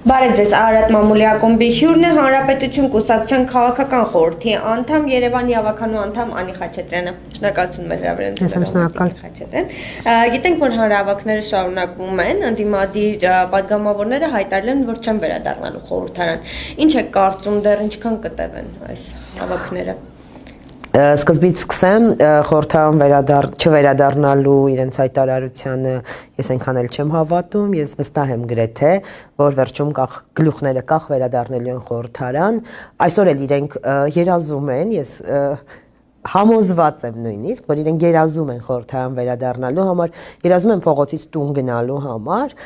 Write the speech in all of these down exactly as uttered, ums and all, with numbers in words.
Բարև ձեզ, Արարատ Մամուլի ակումբի հյուրն է Հանրապետություն կուսակցության քաղաքական խորհրդի անդամ Երևանի ավականու անդամ Անի Խաչատրյանը։ Շնորհակալություն մեր հրավերին։ Գիտենք, որ հանրահավաքները շարունակվում են, ընդդիմադիր պատգամավորները հայտարարել են, որ չեն վերադառնալու խորհրդարան։ Ինչ է կարծում, դեռ ինչքան կտևեն այս հավաքները։ Սկզբից սկսեմ խորհրդարան չվերադառնալու իրենց հայտարարությանը ես այնքան էլ չեմ հավատում, ես վստահ եմ գրեթե, որ վերջում գլուխները կախ վերադառնելու են խորհրդարան, այսօր էլ իրենք երազում են, ես համոզված եմ նույնիսկ, որ իրենք երազում են խորհրդարան վերադառնալու համար, երազում են փողոցից տուն գնալու համար,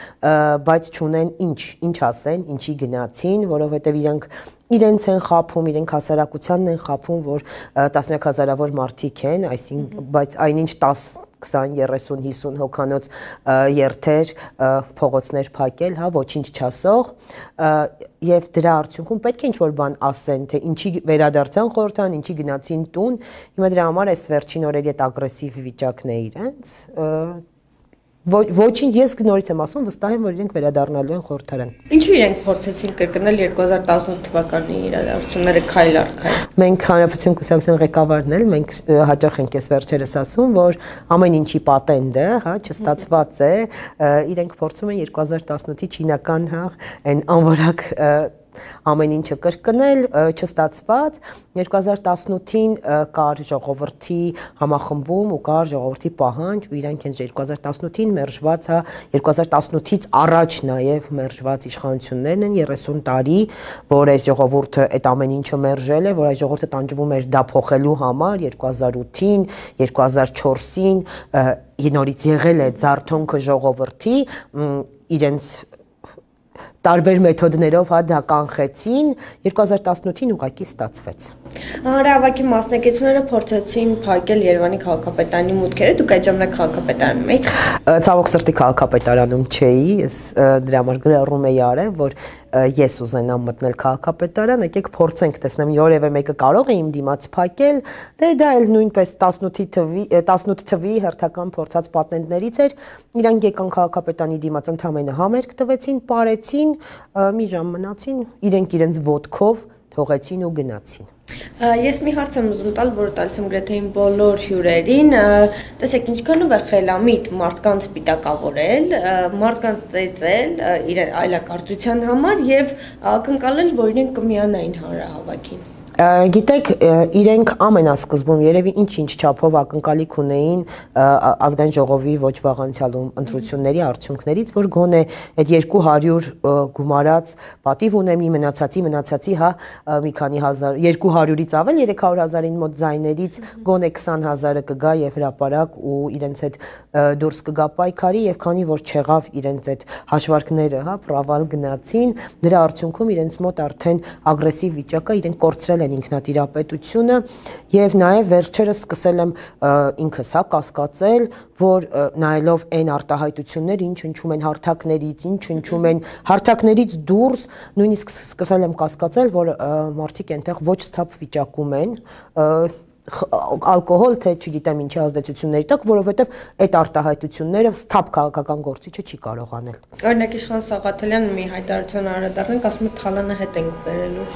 բայց չունեն ինչ, ինչ ասեն, ինչի գնացին, որովհետև իրենք իրենց են խափում, իրենք հասարակությանն են խափում, որ տասնյակ հազարավոր մարդիկ են, այսինքն, բայց այնինչ տաս, քսան, երեսուն, հիսուն հոգանոց երթեր, փողոցներ փակել, հա, ոչինչ չասող, եւ դրա արդյունքում պետք է ինչ-որ բան ասեն, թե ինչի վերադարձան խորհրդարան, ինչի գնացին տուն, հիմա դրա համար այս վերջին օրերի այդ ագրեսիվ վիճակն է իրենց, ոչինչ ես նորից եմ ասում, վստահ եմ, որ իրենք վերադառնալու են խորհրդարան։ Ինչու իրենք փորձեցին կրկնել երկու հազար տասնութ թվականի իրադարձությունները քայլ առ քայլ։ Մենք Հանրապետություն կուսակցության ղեկավարն էլ, մենք հաճախ ենք ես վերջերս ասում, որ ամեն ինչի պատենդը, հա, չստացված է, իրենք փորձում են երկու հազար տասնութի չինական, հա, այն անվորակ ամեն ինչը կրկնել, չստացված, երկու հազար տասնութին կար ժողովրդի համախմբում ու կար ժողովրդի պահանջ ու իրանք հենց երկու հազար տասնութին մերժված, հա, երկու հազար տասնութից առաջ նաև մերժված իշխանություններն են երեսուն տարի, որ այս ժողովուրդը այդ ամեն ինչը մերժել է, որ այս ժողովուրդը տանջվում էր դա փոխելու համար երկու հազար ութին, երկու հազար չորսին նորից եղել է զարթոնքը ժողովրդի, իրենց տարբեր մեթոդներով հա դա կանխեցին, երկու հազար տասնութին ուղղակի ստացվեց։ Հանրահավաքի մասնակիցները փորձեցին փակել Երևանի քաղաքապետարանի մուտքերը, դուք այդ ժամանակ քաղաքապետարանում եք։ Ցավոք սրտի քաղաքապետարանում չէի, ես դրա համար գրառում էի արել, որ ես ուզենամ մտնել քաղաքապետարան, եկեք փորձենք տեսնեմ որևէ մեկը կարող է իմ դիմաց փակել, դե դա էլ նույնպես տասնութի թվի տասնութ թվի հերթական փորձած պատենտներից էր, իրանք եկան քաղաքապետարանի դիմաց ընդամենը համերգ տվեցին, պարեցին, մի ժամ մնացին, իրենք իրենց ոտքով թողեցին ու գնացին։ Ես մի հարց եմ ուզում տալ, որ տալիս եմ գրեթե իմ բոլոր հյուրերին, տեսեք ինչքանով է խելամիտ մարդկանց պիտակավորել, մարդկանց ծեծել իրեն այլակարծության համար եւ ակնկալել, որ իրենք կմիանային հանրահավաքին։ Գիտեք, իրենք ամենասկզբում երևի ինչ-ինչ չափով ակնկալիք ունեին ազգային ժողովի ոչ վաղ անցյալում ընտրությունների արդյունքներից, որ գոնե այդ երկու հարյուր գումարած պատիվ ունեմ, մնացածի մնացածի հա մի քանի հազար, երկու հարյուրից ավել երեք հարյուր հազարին մոտ ձայներից գոնե քսան հազարը կգա եւ հրապարակ ու իրենց այդ դուրս կգա պայքարի եւ քանի որ չեղավ իրենց այդ հաշվարկները, հա, պրավալ գնացին, դրա արդյունքում իրենց մոտ արդեն ագրեսիվ վիճակը իրենք կորցրել են ինքնատիրապետությունը եւ նաեւ վերջերս սկսել եմ ինքս հա կասկածել, որ նայելով այն արտահայտությունները, ինչ հնչում են հարթակներից, ինչ հնչում են հարթակներից դուրս, նույնիսկ սկսել եմ կասկածել, որ մարդիկ այնտեղ ոչ սթափ վիճակում են, ալկոհոլ թե չգիտեմ ինչի ազդեցությունների տակ, որովհետև այդ արտահայտությունները սթափ քաղաքական գործիչը չի կարող անել։ Օրինակ Իշխան Սաղաթելյանը մի հայտարարություն անդրադառնանք, ասում է թալանը հետ ենք բերելու։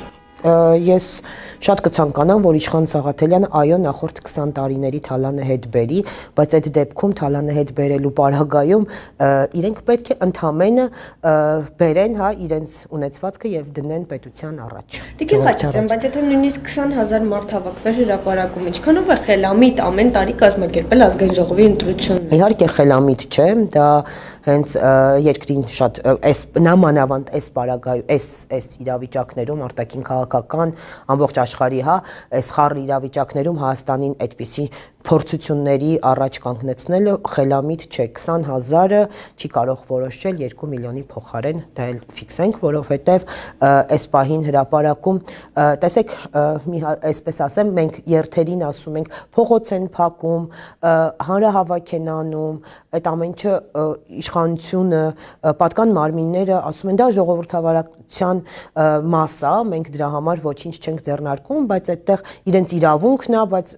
Ես շատ կցանկանամ, որ Իշխան Սաղաթելյանը այո նախորդ քսան տարիների թալանը հետ բերի, բայց այդ դեպքում թալանը հետ բերելու պարագայում իրենք պետք է ընդամենը բերեն հա իրենց ունեցվածքը եւ դնեն պետության առաջ։ Տիկին Խաչատրյան, բայց եթե նույնիսկ քսան հազար մարդ հավաքվեր հրապարակում, ինչքանով է խելամիտ ամեն տարի կազմակերպել ազգային ժողովի ընտրություն։ Իհարկե խելամիտ չէ, դա հենց երկրին շատ այս նամանավանդ այս պարագայում այս այս իրավիճակներում արտաքին քաղաքական ամբողջ աշխարհի հա այս խառը իրավիճակներում Հայաստանին այդպիսի փորձությունների առաջ կանգնեցնելը խելամիտ չէ, քսան հազարը չի կարող որոշել երկու միլիոնի փոխարեն, դա էլ ֆիքսենք, որովհետև այս պահին հրապարակում, տեսեք, մի այսպես ասեմ, մենք երթերին ասում ենք, փողոց են փակում, հանրահավաք են անում, այդ ամենը իշխանությունը, պատկան մարմինները ասում են դա ժողովրդավարության մաս է, մենք դրա համար ոչինչ չենք ձեռնարկում, բայց այդտեղ իրենց իրավունքն է, բայց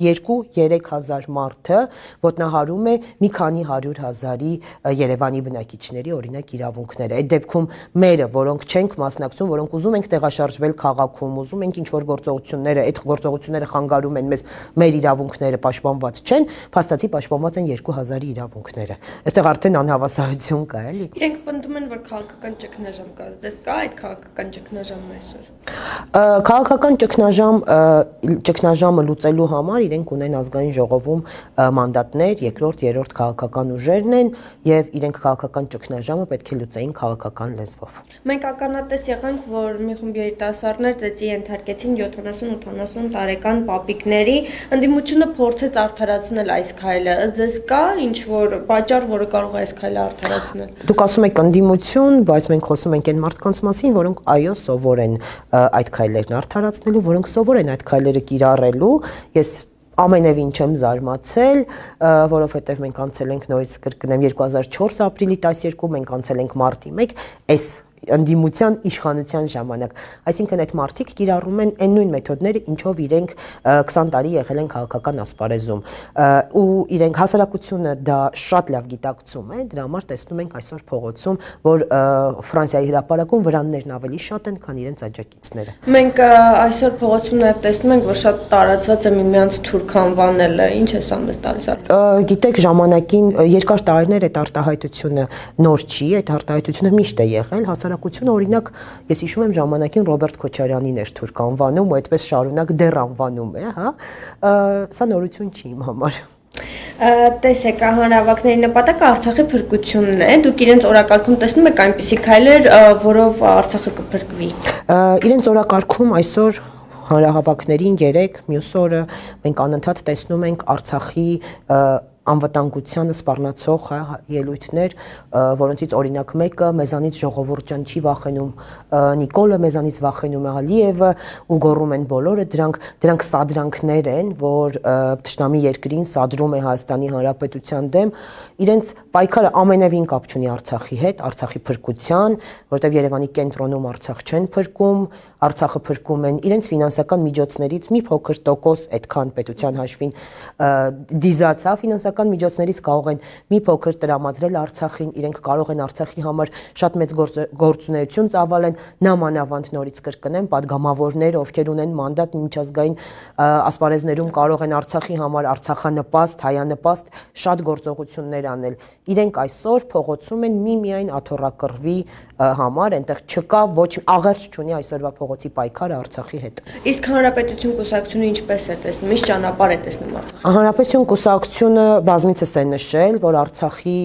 երկու-երեք հազար մարդը ոտնահարում է մի քանի հարյուր հազարի Երևանի բնակիչների օրինակ իրավունքները։ Այդ դեպքում մերը, որոնք չենք մասնակցում, որոնք ուզում ենք տեղաշարժվել քաղաքում, ուզում ենք ինչ-որ գործողությունները, այդ գործողությունները խանգարում են մեզ, մեր իրավունքները պաշտպանված չեն, փաստացի պաշտպանված են երկու հազարի իրավունքները։ Այստեղ արդեն անհավասարություն կա, էլի։ Իրենք պնդում են, որ քաղաքական ճգնաժամ կա։ Ձեզ կա այդ քաղաքական ճգնաժամն այսօր։ Քաղաքական ճգնաժամ ճգնաժամը լուծելու համար իրենք ունեն ազգային ժողովում մանդատներ, երկրորդ, երրորդ քաղաքական ուժերն են եւ իրենք քաղաքական ճգնաժամը պետք է լուծեին քաղաքական լեզվով։ Մենք ականատես եղանք, որ մի խումբ երիտասարդներ ծեծի ենթարկեցին յոթանասուն-ութանասուն տարեկան պապիկների, ընդդիմությունը փորձեց արդարացնել այս քայլը։ Ձեզ կա ինչ որ պատճառ, որը կարող է այս քայլը արդարացնել։ Դուք ասում եք ընդդիմություն, բայց մենք խոսում ենք այն մարդկանց մասին, որոնք այո սովոր են այդ քայլերն արդարացնելու, որոնք սովոր են այդ քայլերը կիրառելու։ Ես ամենևին չեմ զարմացել, որովհետև մենք անցել ենք նորից կրկնեմ երկու հազար չորս ապրիլի տասներկու, մենք անցել ենք մարտի մեկ, այս ընդդիմության իշխանության ժամանակ, այսինքն այդ մարդիկ կիրառում են այն նույն մեթոդները, ինչով իրենք քսան տարի եղել են քաղաքական ասպարեզում, ու իրենք հասարակությունը դա շատ լավ գիտակցում է, դրա համար տեսնում ենք այսօր փողոցում, որ Ֆրանսիայի հրապարակում վրաններն ավելի շատ են, քան իրենց աջակիցները։ Մենք այսօր փողոցում նաև տեսնում ենք, որ շատ տարածված է միմյանց թուրք անվանելը, ինչ է սա մեզ տալիս։ Գիտեք, ժամանակին երկար տարիներ այդ արտահայտությունը նոր չի, այդ արտահայտությունը միշտ է եղել, հասարակությունը օրինակ, ես հիշում եմ ժամանակին Ռոբերտ Քոչարյանին էր թուրք անվանում ու այդպես շարունակ դեռ անվանում է, հա, սա նորություն չի իմ համար։ Տեսեք, հանրահավաքների նպատակը Արցախի փրկությունն է, դուք իրենց օրակարգում տեսնում եք այնպիսի քայլեր, որով Արցախը կփրկվի։ Իրենց օրակարգում այսօր հանրահավաքներին երեք, մյուս օրը մենք անընդհատ տեսնում ենք Արցախի անվտանգությանը սպառնացող ելույթներ, որոնցից օրինակ մեկը մեզանից ժողովուրդ ջան չի վախենում, Նիկոլը մեզանից վախենում է, Ալիևը ու գոռում են բոլորը, դրանք դրանք սադրանքներ են, որ թշնամի երկրին սադրում է Հայաստանի Հանրապետության դեմ, իրենց պայքարը ամենևին կապ չունի Արցախի հետ, Արցախի փրկության, որտեղ Երևանի կենտրոնում Արցախ չեն փրկում, Արցախը փրկում են իրենց ֆինանսական միջոցներից մի փոքր տոկոս, այդքան պետության հաշվին դիզացա ֆինանսական միջոցներից կարող են մի փոքր տրամադրել Արցախին, իրենք կարող են Արցախի համար շատ մեծ գործունեություն ծավալեն, նամանավանդ նորից կրկնեմ, падգամավորները, ովքեր ունեն մանդատ միջազգային ասպարեզներում կարող են Արցախի համար Արցախանպաստ, հայանպաստ շատ գործողություններ անել։ Իրենք այսօր փողոցում են միմիայն աթոռակռվի համար, այնտեղ չկա ոչ աղերս չունի այսօրվա փողոցի պայքարը Արցախի հետ։ Իսկ Հանրապետություն կուսակցությունը ինչպես է տեսնում, ինչ ճանապարհ է տեսնում Արցախի։ Հանրապետություն կուսակցությունը բազմիցս է նշել, որ Արցախի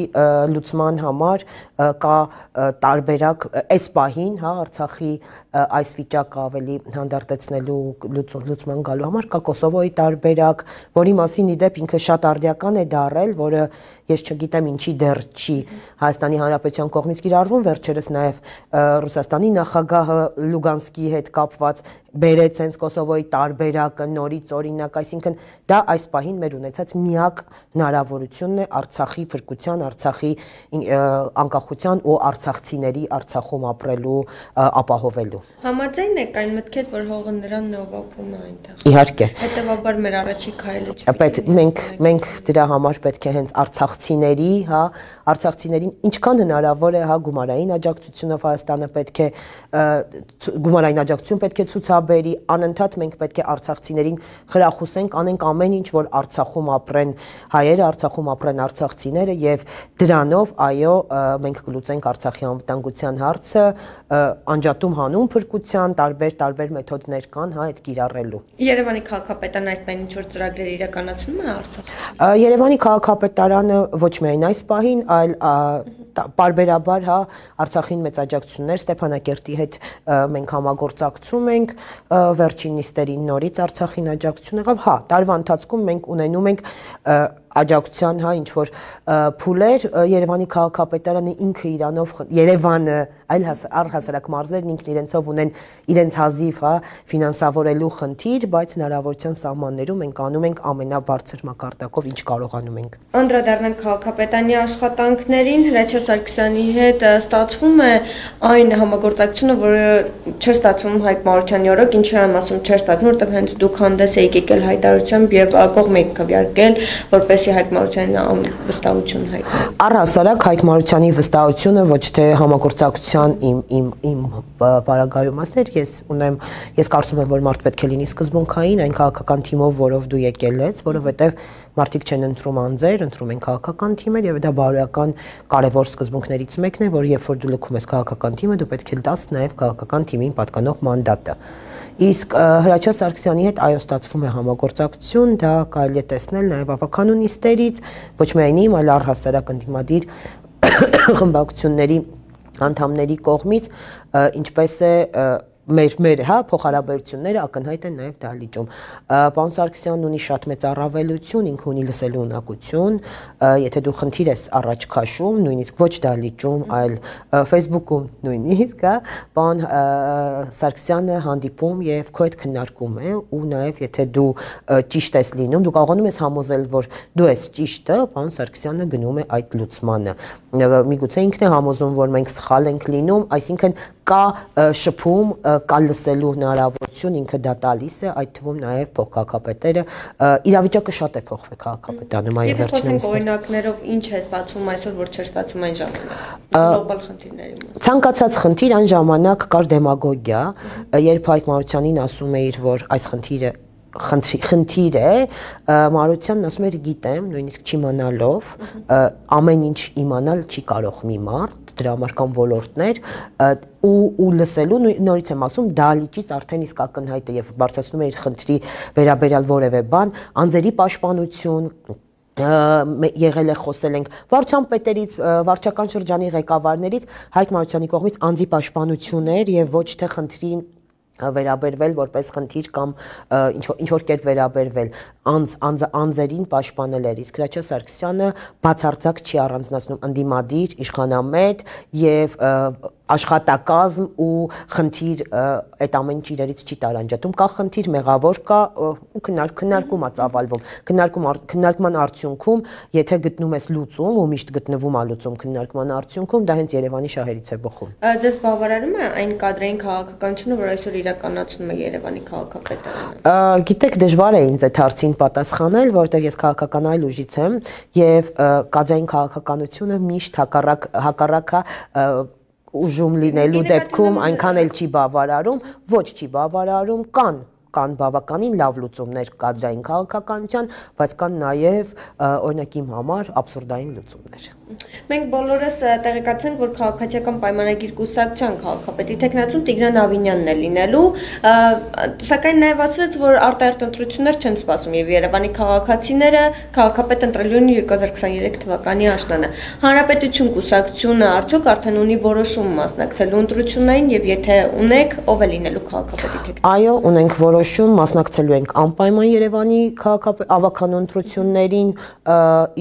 լուծման համար կա տարբերակ այս պահին, հա, Արցախի այս վիճակը ավելի հանդարտեցնելու լուծման գալու համար կա Կոսովոյի տարբերակ, որի մասին իդեպ ինքը շատ արդիական է դարել, որը ես չգիտեմ ինչի դեռ չի Հայաստանի Հանրապետության կողմից կիրառվում, վերջերս նաև Ռուսաստանի նախագահը Լուգանսկի հետ կապված բերեց հենց Կոսովոյի տարբերակը նորից օրինակ, այսինքն դա այս պահին մեր ունեցած միակ հնարավորությունն է Արցախի փրկության, Արցախի անկախության ու արցախցիների Արցախում ապրելու ապահովելու։ Համաձայն եք այն մտքեդ, որ հողը նրանն է, ով ապրում է այնտեղ։ Իհարկե։ Հետևաբար մեր առաջի քայլը չէ։ Բայց մենք մենք դրա համար պետք է հենց արցախցիների, հա, արցախցիներին ինչքան հնարավոր է, հա, գումարային աջակցությունով Հայաստանը պետք է գումարային աջակցություն պետք է ցուցաբերի, անընդհատ մենք պետք է արցախցիներին խրախուսենք, անենք ամեն ինչ, որ Արցախում ապրեն հայերը, Արցախում ապրեն արցախցիները եւ դրանով, այո, մենք կլուծենք Արցախի անվտանգության հարցը, անջատում հանուն փրկության տարբեր տարբեր մեթոդներ կան, հա, այդ կիրառելու։ Երևանի քաղաքապետարանը այս պահին ինչ որ ծրագրեր իրականացնում է Արցախում։ Երևանի քաղաքապետարանը ոչ միայն այս պահին, այլ պարբերաբար, հա, Արցախին մեծ աջակցություններ Ստեփանակերտի հետ մենք համագործակցում ենք, վերջին նիստերին նորից Արցախին աջակցություն եղավ, հա, տարվա ընթացքում մենք ունենում ենք աջակցության, հա, ինչ որ փուլեր, Երևանի քաղաքապետարանը ինքը իրանով Երևանը այլ առհասարակ մարզերն ինքն իրենցով ունեն իրենց հազիվ, հա, ֆինանսավորելու խնդիր, բայց հնարավորության սահմաններում մենք անում ենք ամենաբարձր մակարդակով ինչ կարողանում ենք։ Անդրադառնանք քաղաքապետարանի աշխատանքներին, Հրաչյա Սարգսյանի հետ ստացվում է այն համագործակցությունը, որը չէր ստացվում Հայկ Մարությանի օրոք, ինչու եմ ասում չէր ստացվում, որտեղ հենց դուք հանդես եք եկել հայտարարությամբ եւ կողմ եք քվեարկել, որպեսզի Հայկ Մարությանի վստահություն հայտնի։ Առհասարակ Հայկ Մարությանի վստահությունը ոչ թե համագործակցության իմ իմ իմ բարագայում ասներ, ես ունեմ, ես կարծում եմ, որ մարդ պետք է լինի սկզբունքային այն քաղաքական թիմով, որով դու եկել ես, որովհետեւ մարդիկ չեն ընտրում անձեր, ընտրում են քաղաքական թիմեր եւ դա բարոյական կարևոր սկզբունքներից մեկն է, որ երբ որ դու լքում ես քաղաքական թիմը, դու պետք է տաս նաեւ քաղաքական թիմին պատկանող մանդատը։ Իսկ Հրաչյա Սարգսյանի հետ այո ստացվում է համագործակցություն, դա կարելի է տեսնել նաեւ ավականունիստերից, ոչ միայն իմ, այլ առհասարակ ընդդիմադիր խմբակցությունների անդամների կողմից, ինչպես է մեր մեր հա փոխհարաբերությունները ակնհայտ են նաև դահլիճում։ Պարոն Սարգսյանն ունի շատ մեծ առավելություն, ինքը ունի լսելու ունակություն, եթե դու խնդիր ես առաջ քաշում, նույնիսկ ոչ դահլիճում, այլ Facebook-ում նույնիսկ, հա, պարոն Սարգսյանը հանդիպում եւ քո հետ քննարկում է ու նաև եթե դու ճիշտ ես լինում, դու կարողանում ես համոզել, որ դու ես ճիշտը, պարոն Սարգսյանը գնում է այդ լուծմանը։ Միգուցե ինքն է համոզում, որ մենք սխալ ենք լինում, այսինքն կա շփում, կա լսելու հնարավորություն, ինքը դա տալիս է, այդ թվում նաև փոխքաղաքապետերը, իրավիճակը շատ է փոխվել քաղաքապետարանում, այո, վերջին ամիսներին։ Եթե խոսենք օրինակներով, ինչ է ստացվում այսօր, որ չէր ստացվում այն ժամանակ։ Գլոբալ խնդիրների մասին։ Ցանկացած խնդիր այն ժամանակ կար դեմագոգիա, երբ Հայկ Մարությանին ասում էիր, որ այս խնդիրը խնդիր է, Մարությանն ասում էր գիտեմ, նույնիսկ չիմանալով, ամեն ինչ իմանալ չի կարող մի մարդ, դրա համար կան ոլորտներ ու ու լսելու նորից եմ ասում դահլիճից արդեն իսկ ակնհայտ է եւ բարձրացնում է իր խնդրի վերաբերյալ որևէ բան, անձերի պաշտպանություն եղել է խոսել ենք վարչության պետերից, վարչական շրջանի ղեկավարներից, Հայկ Մարությանի կողմից անձի պաշտպանություններ եւ ոչ թե խնդրին վերաբերվել որպես խնդիր կամ ինչ ինչ որ կերպ վերաբերվել անձ անձ անձերին պաշտպանել էր իսկ Հրաչյա Սարգսյանը բացարձակ չի առանձնացնում ընդդիմադիր իշխանամետ եւ աշխատակազմ ու խնդիր այդ ամեն ինչ իրերից չի տարանջատում կա խնդիր մեղավոր կա ու քննարկում է ծավալվում քննարկում քննարկման արդյունքում եթե գտնում ես լուծում ու միշտ գտնվում է լուծում քննարկման արդյունքում դա հենց Երևանի շահերից է բխում Ձեզ բավարարում է այն կադրային քաղաքականությունը որ այսօր իրականացնում է Երևանի քաղաքապետարանը Գիտեք դժվար է ինձ այդ հարցին պատասխանել որովհետև ես քաղաքական այլ ուժից եմ եւ կադրային քաղաքականությունը միշտ հակառակ հակառակա ուժում լինելու դեպքում այնքան էլ չի բավարարում, ոչ չի բավարարում, կան կան բավականին լավ լուծումներ կադրային քաղաքականության, բայց կան նաև օրինակ իմ համար աբսուրդային լուծումներ։ Մենք բոլորս տեղեկացանք, որ քաղաքացիական պայմանագիր կուսակցության քաղաքապետի թեկնածուն Տիգրան Ավինյանն է լինելու, սակայն նաև ասվեց, որ արտահերթ ընտրություններ չեն սպասում եւ Երևանի քաղաքացիները քաղաքապետ ընտրելու են երկու հազար քսաներեք թվականի աշնանը։ Հանրապետություն կուսակցությունը արդյոք արդեն ունի որոշում մասնակցելու ընտրություններին եւ եթե ունեք, ով է լինելու քաղաքապետի թեկնածուն։ Այո, ունենք որոշում, մասնակցելու ենք անպայման Երևանի քաղաքապետ ավականու ընտրություններին,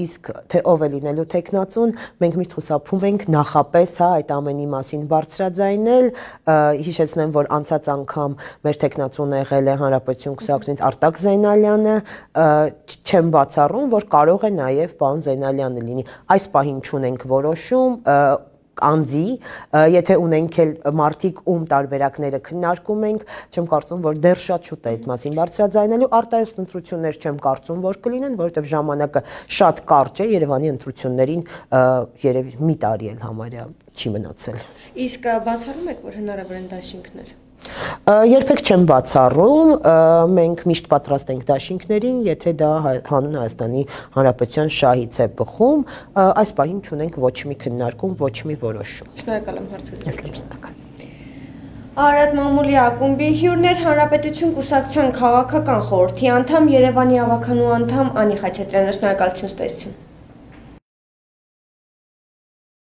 իսկ թե ով է լինելու թեկնածուն, մենք միշտ խուսափում ենք նախապես, հա, այդ ամենի մասին բարձրաձայնել, հիշեցնեմ, որ անցած անգամ մեր թեկնածուն եղել է Հանրապետություն կուսակցությունից Արտակ Զեյնալյանը, չեմ բացառում, որ կարող է նաև պարոն Զեյնալյանը լինի։ Այս պահին չունենք որոշում, անձի, եթե ունենք էլ մարդիկ ում տարբերակները քննարկում ենք, չեմ կարծում, որ դեռ շատ շուտ է այդ մասին բարձրաձայնելու, արտահերթ ընտրություններ չեմ կարծում, որ կլինեն, որովհետև ժամանակը շատ կարճ է, Երևանի ընտրություններին երևի մի տարի էլ համարյա չի մնացել։ Իսկ բացառում եք, որ հնարավոր են դաշինքներ։ Երբեք չեմ բացառում, մենք միշտ պատրաստ ենք դաշինքներին, եթե դա հանուն Հայաստանի Հանրապետության շահից է բխում, այս պահին չունենք ոչ մի քննարկում, ոչ մի որոշում։ Շնորհակալ եմ հարցերից։ Շնորհակալ։ Արադ Մամուլի ակումբի հյուրներ Հանրապետություն կուսակցության քաղաքական խորհրդի անդամ Երևանի ավականու անդամ Անի Խաչատրյանը, շնորհակալություն ստեսություն։